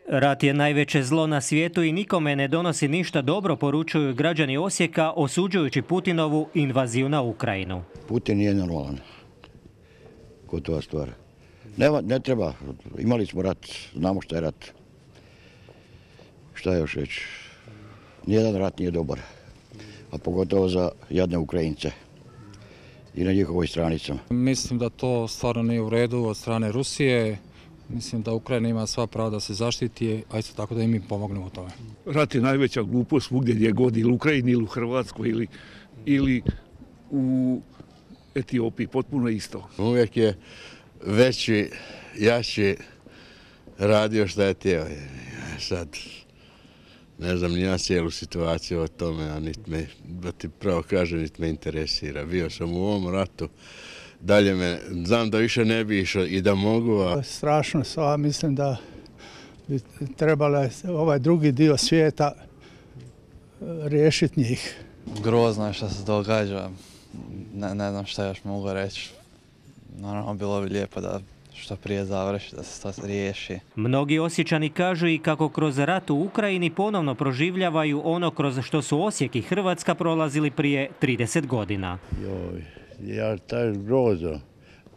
Rat je najveće zlo na svijetu i nikome ne donosi ništa dobro, poručuju građani Osijeka, osuđujući Putinovu invaziju na Ukrajinu. Putin nije normalan. Gotova stvar. Ne treba. Imali smo rat. Znamo šta je rat. Šta još reći? Nijedan rat nije dobar. A pogotovo za jadne Ukrajince. I na njihovoj stranicama. Mislim da to stvarno nije u redu od strane Rusije. Mislim da Ukrajina ima sva prava da se zaštiti, a isto tako da i mi pomognemo u tome. Rat je najveća glupost svugdje gdje god, ili u Ukrajini, ili u Hrvatskoj, ili u Etiopiji, potpuno isto. Uvijek je veći, jači radio šta je htio. Sad, ne znam ni ja cijelu situaciju o tome, a da ti pravo kažem, niti me interesira. Bio sam u ovom ratu. Dalje znam da više ne bi išao i da mogu. Strašno sva, mislim da bi trebalo ovaj drugi dio svijeta riješiti njih. Grozno je što se događa, ne znam šta još mogu reći. Naravno, bilo bi lijepo da što prije završi, da se to riješi. Mnogi Osječani kažu i kako kroz rat u Ukrajini ponovno proživljavaju ono kroz što su Osijek i Hrvatska prolazili prije 30 godina. Ja, to je grozno.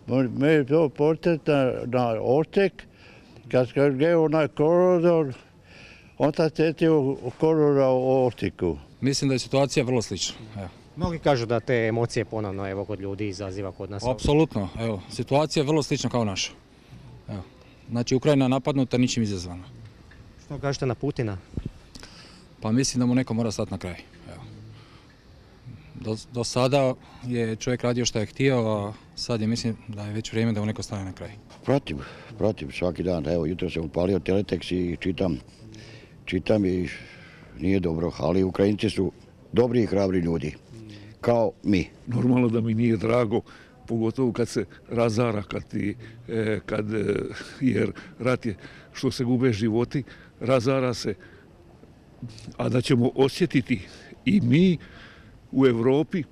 Me je to portet na Osijek, kad je onaj koridor, onda sjeti u koridora u Osijeku. Mislim da je situacija vrlo slična. Evo. Mnogi kažu da te emocije ponovno kod ljudi izaziva kod nas. Apsolutno, evo, situacija je vrlo slična kao naša. Evo. Znači, Ukrajina je napadnuta, ničim izazvana. Što kažete na Putina? Pa mislim da mu neko mora stati na kraj. Evo. Do sada je čovjek radio što je htio, a sad je mislim da je već vrijeme da mu neko stane na kraj. Protiv svaki dan. Evo, jutro sam upalio teletekst i čitam i nije dobro, ali Ukrajinci su dobri i hrabri ljudi, kao mi. Normalno da mi nije drago, pogotovo kad se razara, jer rat je što se gube životi, razara se, a da ćemo osjetiti i mi u Europi,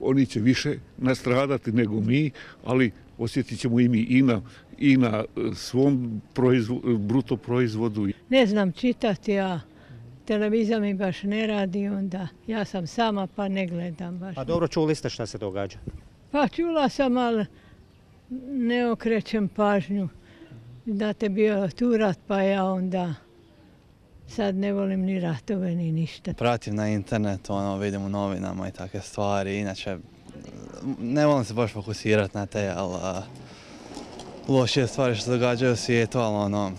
oni će više nastradati nego mi, ali osjetit ćemo i mi i na svom bruto proizvodu. Ne znam čitati, ja televizija mi baš ne radi, onda ja sam sama pa ne gledam baš. Pa dobro, čuli ste šta se događa? Pa čula sam, ali ne okrećem pažnju. Znate, bio tu rat, pa ja onda sad ne volim ni ratove ni ništa. Pratim na internetu, vidim u novinama i takve stvari, inače ne volim se baš fokusirati na te, ali lošije stvari što se događaju u svijetu, ali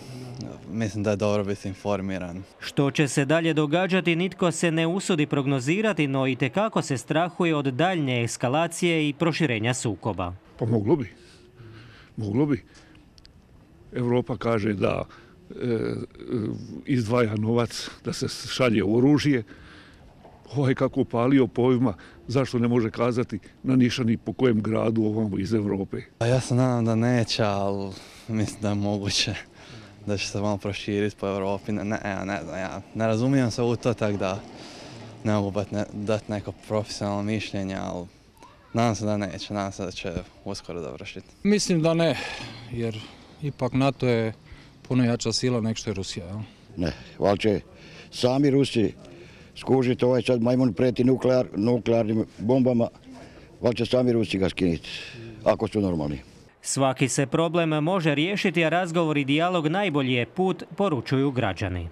mislim da je dobro biti informiran. Što će se dalje događati, nitko se ne usudi prognozirati, no itekako se strahuje od daljnje eskalacije i proširenja sukoba. Pa moglo bi. Europa kaže da izdvaja novac, da se šalje oružje. Kako palio pojma, zašto ne može kazati na nišani po kojem gradu ovamo iz Europe? Ja se nadam da neće, ali mislim da je moguće da će se malo proširiti po Europi. Ja ne razumijem se u to, tako da ne mogu dati neko profesionalno mišljenje, ali nadam se da neće, nadam se da će uskoro završiti. Mislim da ne, jer ipak NATO je puno jača sila nego što je Rusija. Jel? Ne, ali će sami Rusi skužiti sad majmun preti nuklearnim bombama, ali će sami Rusi ga skinuti, ako su normalni. Svaki se problem može riješiti, a razgovor i dijalog najbolji je put, poručuju građani.